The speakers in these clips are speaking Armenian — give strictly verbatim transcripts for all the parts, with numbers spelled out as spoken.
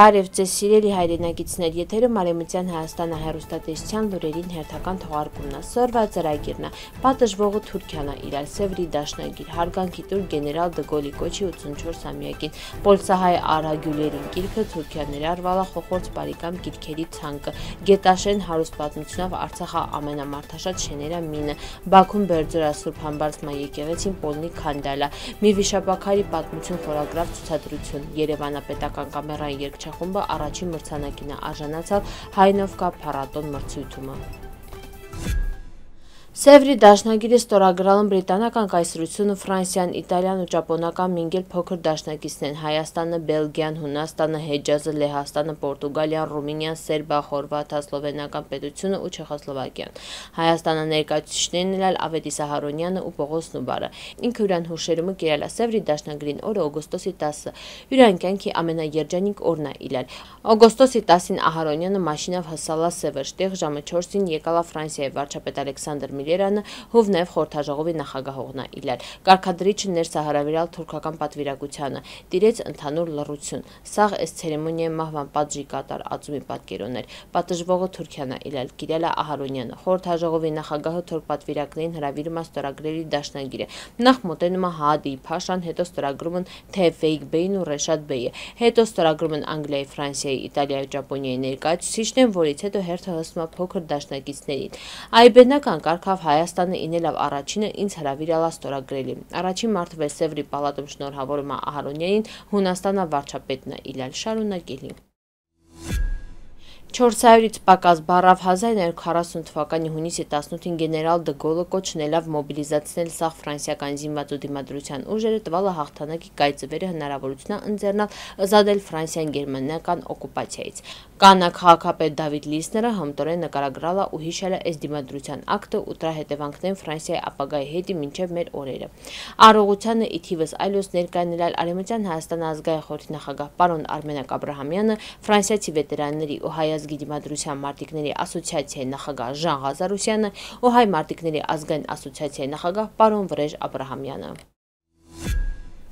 Բարև ձեզ սիրելի հայրենակիցներ, եթերում Արևմտյան Հայաստանը հեռուստատեսության լուրերին հերթական թողարկումն է, սորվա ծրագիրն է, պատժվողը Թուրքիան է իրար Սևրի դաշնագիր, հարգանքի տուր գեներալ Դը Գոլի կոչի ութսունչորսամյակին, պոլսահայ Արա Գյուլերին գիրքը Թուրքիան ներառվալա խոխորձ բարիկամ գիրքերի ցանկը, Գետաշեն հարուստ պատմությունով Արցախը ամենամարդաշատ շեները մինը, Բաքուն Բերձորա Սուրբ Համբարձման եկեղեցին Պոլնի քանդալա, մի վիշապաքարի պատմություն խորագրավ ցուցադրություն, Երևանը պետական կամերային երգչախումբը առաջին մրցանակին է արժանացել Հայնովկա փառատոն մրցույթումը։ Սևրի դաշնագիրը ստորագրալն բրիտանական կայսրությունը, Ֆրանսիան, Իտալիան ու ճապոնական մինգել փոքր դաշնակիցն են Հայաստանը, Բելգիան, Հունաստանը, Հեջազը, Լեհաստանը, Պորտուգալիան, Ռումինիան, Սերբիա, Խորվաթիա, Սլովենական պետությունը ու Չեխոսլովակիան։ Հայաստանը ներկայացուցիչներն էլ Ավետիս Ահարոնյանը ու Պողոս Նուբարը։ Ինքը յուրան հուշերումը կերել է Սևրի դաշնագրին օրը օգոստոսի տասը։ Յուրան կյանքի ամենաերջանիկ օրն է իլել։ Օգոստոսի տասին Ահարոնյանը մաշինով հսալա Սևր, տեղ ժամը չորսին եկալա Ֆրանսիայի վարչապետ Ալեքսանդր Միլերանը, հովնև խորհրդաժողովի նախագահողն է իլել։ Կարգադրիչը ներս է հարավիրալ թուրքական պատվիրակությանը, տիրեց ընդհանուր լռություն։ Սաղ էս ցերեմոնիայի մահվան պատժի կատար ածումի պատկերոներ։ Պատժվողը Թուրքիան է իլել, կիրել է Ահարոնյանը։ Խորհրդաժողովի նախագահը թուրք պատվիրակներին հրավիրում է ստորագրելի դաշնագիրը։ Նախ մոտենում է Հադի Փաշան, հետո ստորագրում են Թեֆեյք Բեյն ու Ռեշադ Բեյը, հետո ստորագրում են Անգլիայի, Ֆրանսիայի, Իտալիայի ու Ճապոնիայի ներկայացուցիչներն, որից հետո հերթը հսում է փոքր դաշնակիցներին։ Այբենական կարգավ Հայաստանը ինելավ առաջինը ինձ հրավիրալա ստորագրելի։ Առաջին մարտվել Սևրի պալատում շնորհավորում է Ահարոնյանին, Հունաստանը վարչապետն է իլել շարունակելի։ չորսսայից պակաս բառավ հազար նոյ հարյուր քառասուն թվականի հունիսի տասնութին գեներալ Դը Գոլը կոչնելով մոբիլիզացնել սաղ ֆրանսիական զինված ու դիմադրության ուժերը տվալը հաղթանակի կայծվերը հնարավորությունն ընձեռնալ ըզադել Ֆրանսիան գերմանական օկուպացիայից։ Կանա քաղաքապետ Դավիթ Լիսները հմտորեն նկարագրալա ու հիշել է այս դիմադրության ակտը ու դրա հետևանքներն Ֆրանսիայի ապագայի հետի մինչև մեր օրերը։ Արողությանը ի թիվս այլոց ներկայանել Արևմտյան Հայաստան ազգային խորհրդի նախագահ պարոն Արմենակ Աբրահամյանը, ֆրանսիացի վետերանների ու հայ ազգի դիմադրության մարտիկների ասոցիացիայի նախագահ Ժան Ղազարոսյանը ու հայ մարտիկների ազգային ասոցիացիայի նախագահ պարոն Վրեժ Աբրահամյանը։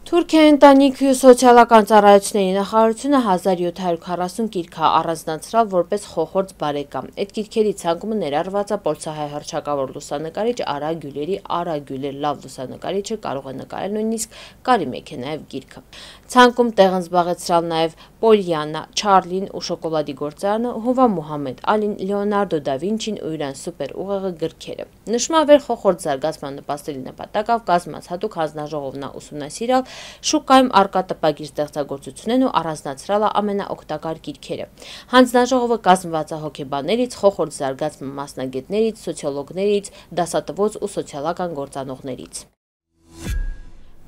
Թուրքիայի ընտանիքի ու սոցիալական ծառայությունների նախարարությունը հազար յոթ հարյուր քառասուն գիրք է առանձնացրել որպես խոխորձ բարեկամ։ Այդ գիրքերի ցանկումը ներառված է պոլսահայ հռչակավոր լուսանկարիչ Արա Գյուլերի Արա Գյուլեր լավ լուսանկարիչը կարող է նկարել նույնիսկ կարիմեկ է նաև գիրքը։ Ցանկում տեղ են զբաղեցրել նաև Պոլյանա, Չարլին ու շոկոլադի գործարանը, Հովա Մուհամեդ Ալին, Լեոնարդո դա Վինչին ու իրան սուպեր ուղեղը գրքերը։ Նշվում է վեր խոխորձ զարգացման նպաստելի նպատակով կազմած հատուկ հանձնաժողովն է ուսումնասիրել շուկայում արկա տպագիր ստեղծագործություններն ու առանձնացրել է ամենաօգտակար գիրքերը։ Հանձնաժողովը կազմված է հոգեբաններից, խոխորձ զարգացման մասնագետներից, սոցիոլոգներից, դասատվոց ու սոցիալական գործանողներից։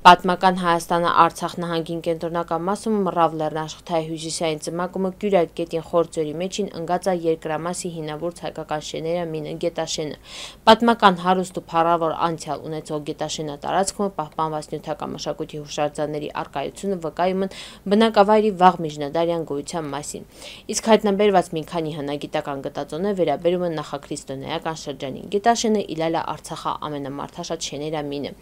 Պատմական Հայաստանը Արցախ նահանգին կենտրոնական մասում մռավ լեռնաշխթայի հյուսիսային ծմակումը Կյուրայք գետին խորձորի մեջին ընկած է երկրամասի հինավուրց հայկական շեները մինը Գետաշենը։ Պատմական հարուստ ու փառավոր անցյալ ունեցող Գետաշենը տարածքում պահպանված նյութական մշակույթի հուշարձանների առկայությունը վկայում են բնակավայրի վաղ միջնադարյան գոյության մասին։ Իսկ հայտնաբերված մի քանի հնագիտական գտածոներ վերաբերում են նախաքրիստոնեական շրջանին։ Գետաշենը իլել է Արցախի ամենամարդաշատ շեները մինը։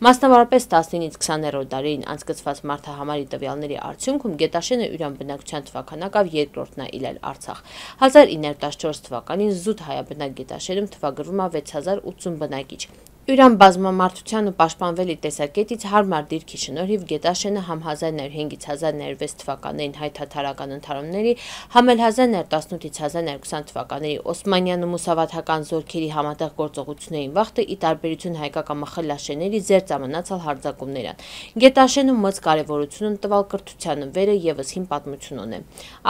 Մասնավորապես տասնինից քսաներորդ դարերին անցկացված մարդահամարի տվյալների արդյունքում Գետաշենը յուրան բնակչության թվականակով երկրորդն է իլել Արցախ։ հազար ինը հարյուր տասնչորս թվականին զուտ հայաբնակ Գետաշենում թվագրվում է վեց հազար ութսուն բնակիչ։ Յուրան բազմամարդության ու պաշտպանվելի տեսակետից հարմար դիրքի շնորհիվ Գետաշենը համ հազար նոյ հարյուր հինգից հազար նոյ հարյուր վեց թվականներին հայ-թաթարական ընդհարումների, համ էլ հազար նոյ հարյուր տասնութից հազար նոյ հարյուր քսան թվականների օսմանյան ու մուսավաթական զորքերի համատեղ գործողություններին վաղտը ի տարբերություն հայկական մխլաշեների զերծ մնացալ հարձակումներ են։ Գետաշենում մեծ կարևորություն են տվալ կրթությանը, վերը եւս հին պատմություն ունի։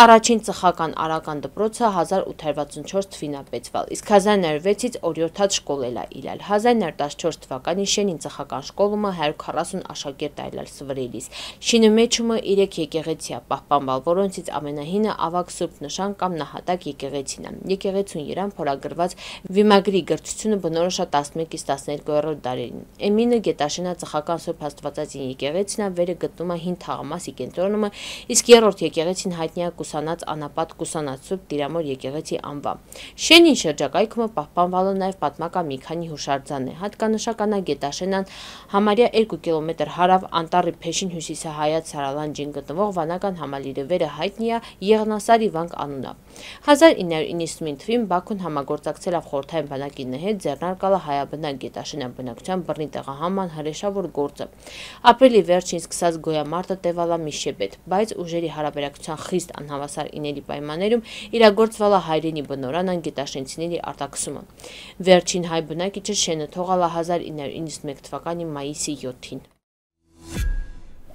Առաջին ծխական արական դպրոցը հազար ութ հարյուր վաթսունչորս թվին է բեցվել, իսկ հազար նոյ հարյուր վեցից օրիորդաց շկոլել է իլել։ հազար նոյ հարյուր տասնչորս թվականին Շենին ծխական շկոլումը հարյուր քառասուն աշակերտ այլել սվրելիս։ Շինը մեջումը երեք եկեղեցի է պահպանվել, որոնցից ամենահինը ավագ Սուրբ Նշան կամ Նահատակ եկեղեցին է։ Եկեղեցուն երան փորագրված վիմագրի գրթությունը բնորոշ է տասնմեկից տասներկուերորդ դարերին։ Էմինը Գետաշենը ծխական Սուրբ Աստվածածին եկեղեցին է, վերը գտնում է հին թաղամասի կենտրոնումը, իսկ երրորդ եկեղեցին հայտնի է Կուսանած անապատ Կուսանած Սուրբ Տիրամոր եկեղեցի անվամբ։ Շենին շրջակայքում պահպանվել է նաև պատմական մի քանի հուշարձաններ, հատկանշական է Գետաշենան համարյա երկու կիլոմետր հարավ Անտառի Փեշին հյուսիսահայաց Սարալանջին գտնվող վանական համալիրը վերը հայտնի է Եղնասարի վանք անունով։ հազար ինը հարյուր իննսունինը թվականին Բաքուն համագործակցել է խորհրդային բանակի հետ ձեռնարկալը հայաբնակ Գետաշենան բնակչության բռնի տեղահանման հրեշավոր գործը։ Ապրիլի վերջին սկսած գոյամարտը տևալ է մի շաբաթ, բայց ուժերի հարաբերակցության խիստ անհավասար իների պայմաններում իրագործվել է հայրենի բնօրան գետաշենցիների արտաքսումը։ Վերջին հայ բնակիչը շենը թողալ է հազար ինը հարյուր իննսունմեկ թվականի մայիսի յոթին։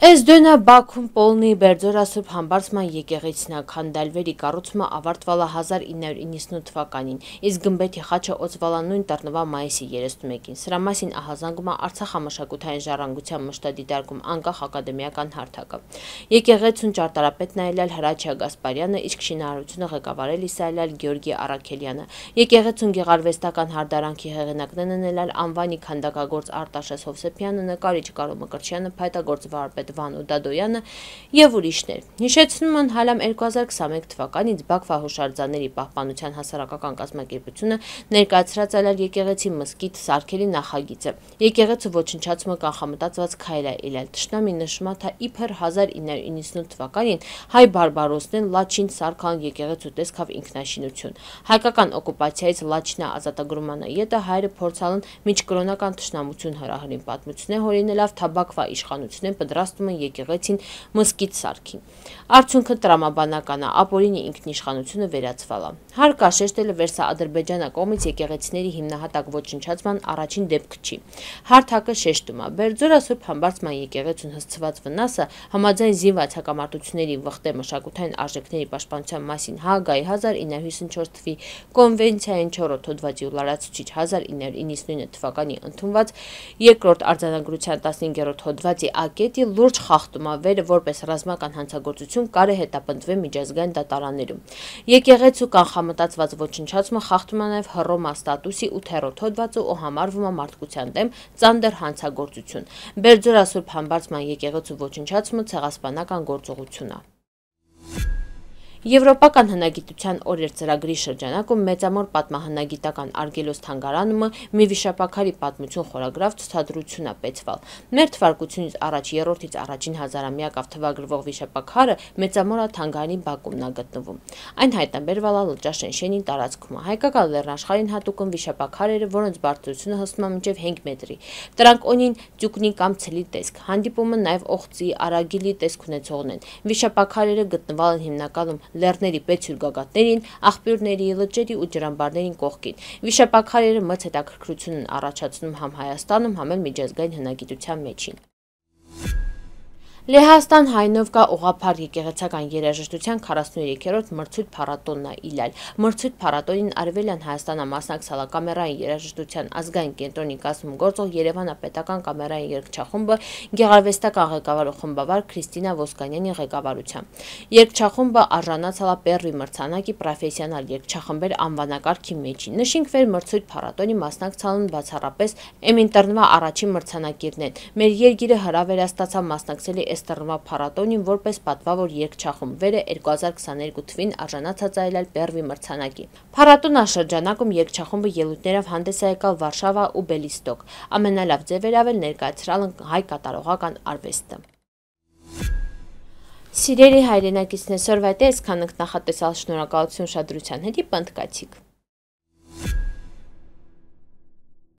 Էզդոնա Բաքուն Պոլնի Բերձորա Սուրբ Համբարձման եկեղեցին քանդալվերի կառուցումը ավարտվել է հազար ինը հարյուր իննսունութ թվականին, իսկ գմբեթի խաչը օծվել է նույն տառնվա մայիսի երեսունմեկին։ Սրա մասին ահազանգում է Արցախամշակութային ժառանգության մշտադիտարկում անկախ ակադեմիական հարթակը։ Եկեղեցուն ճարտարապետն այլալ Հրաչյա Գասպարյանը, իսկ շինարարությունը ղեկավարել Իսայել Գեորգի Արաքելյանը։ Եկեղեցուն գեղարվեստական հարդարանքի հեղինակներն են ելալ անվանի քանդակագործ Արտաշես Հովսեփյանը, նկարիչ Կարո Մկրտչյանը, փայտագործ վարպետ Վանո Դադոյանը եւ ուրիշներ։ Հիշեցնում են հալամ երկու հազար քսաներկու թվականից Բաքվա հուշարձանների պահպանության հասարակական կազմակերպությունը ներկայացրած այլալ եկեղեցի մզկիթ սարքելի նախագիծը։ Եկեղեցու ոչնչացումը կանխամտածված քայլ է ելել։ Տշնամի նշում է, թե իբր հազար ինը հարյուր իննսունութ թվականին հայ բարբարոսներն Լաչին սարքան եկեղեցու տեսքավ ինքնաշինություն։ Հայկական օկուպացիայից Լաչինա ազատագրման ետը հայրը փորձալն միջկրոնական տշնամություն հրահրին պատմություն է հորինելով Թաբակվա իշխանությունը պատրաստում են եկեղեցին մզկիթ սարքին։ Արդյունքը տրամաբանական է, ապօրինի ինքնիշխանությունը վերացվել է։ Հարկ է շեշտել Վերսաադրբեջանա կողմից եկեղեցիների հիմնահատակ ոչնչացման առաջին դեպքը չի։ Հարթակը շեշտում է, Բերձորա Սուրբ Համբարձման եկեղեցուն հասցված վնասը համաձայն զինված հակամարտությունների վխտե մշակութային արժեքների պաշտպանության մասին Հաագայի հազար ինը հարյուր հիսունչորս թվականի կոնվենցիային չորրորդ հոդվածի լարացուցիչ հազար ինը հարյուր իննսունինը թվականի ընդունված երկրորդ արձանագրության տասնհինգերորդ հոդվածի ակետի լուրջ խախտում է վերը որպես ռազմական հանցագործություն կարե հետապնդվել միջազգային դատարաններում։ Եկեղեցու կանխամտածված ոչնչացումը խախտում է նաև Հռոմա ստատուսի ութերորդ հոդվածը ու համարվում է մարդկության դեմ ծանր հանցագործություն։ Բերձորա Սուրբ Համբարձման եկեղեցու ոչնչացումը ցեղասպանական գործողություն է։ Եվրոպական հնագիտության օրեր ծրագրի շրջանակում Մեծամոր պատմահնագիտական արգելոց թանգարանը մի վիշապաքարի պատմություն խորագրավ ցուցադրություն է պետցվել։ Մեր թվարկությունից առաջ երրորդից առաջին հազարամյակով թվագրվող վիշապաքարը Մեծամորա թանգարանի բակումն է գտնվում։ Այն հայտնաբերվել է Լճաշեն շենի տարածքում։ Հայկական լեռնաշխարհին հատուկ են վիշապաքարերը, որոնց բարձրությունը հասնում է մինչև հինգ մետրի։ Դրանք ունին ձուկնի կամ ցլի տեսք։ Հանդիպում են նաև օղծի, արագիլի տեսք ունեցողն են։ Վիշապաքարերը գտնվել են հիմնականում լեռների պետսյուր գագաթներին, աղբյուրների, լճերի ու ջրամբարների կողքին։ Վիշապաքարերը մեծ հետաքրքրություն են առաջացնում համ Հայաստանում, համ էլ միջազգային հնագիտության մեջին։ Լեհաստան Հայնովկա ուղղափառ եկեղեցական երաժշտության քառասունուերեքերորդ մրցույթ փառատոնն է իլալ։ Մրցույթ փառատոնին Արևելյան Հայաստանը մասնակցել է կամերային երաժշտության ազգային կենտրոնի կազմում գործող Երևանը պետական կամերային երգչախումբը գեղարվեստական ղեկավար ու խմբավար Քրիստինա Ոսկանյանի ղեկավարությամբ։ Երգչախումբը արժանացել է Պերրի մրցանակի պրոֆեսիոնալ երգչախմբեր անվանակարգի մեջին։ Նշենք վեր մրցույթ փառատոնի մասնակցալն բացառապես Էմինտռնվա առաջին մրցանակիրն են։ Մեր երգիրը հրավերաստացավ մասնակցելի Էստռնվա փառատոնին որպես պատվավոր երգչախումբ վերը երկու հազար քսաներկու թվին արժանացած այլալ Պերրի մրցանակի։ Փառատոնի շրջանակում երգչախումբը ելույթներով հանդես է եկալ Վարշավա ու Բելիստոկ։ Ամենալավ ձևերով էլ ներկայացրալ են հայ կատարողական արվեստը։ Սիրելի հայրենակիցներ, սորվայտե այսքան ենք նախատեսալ, շնորհակալություն ուշադրության հետ, պնդկացիք։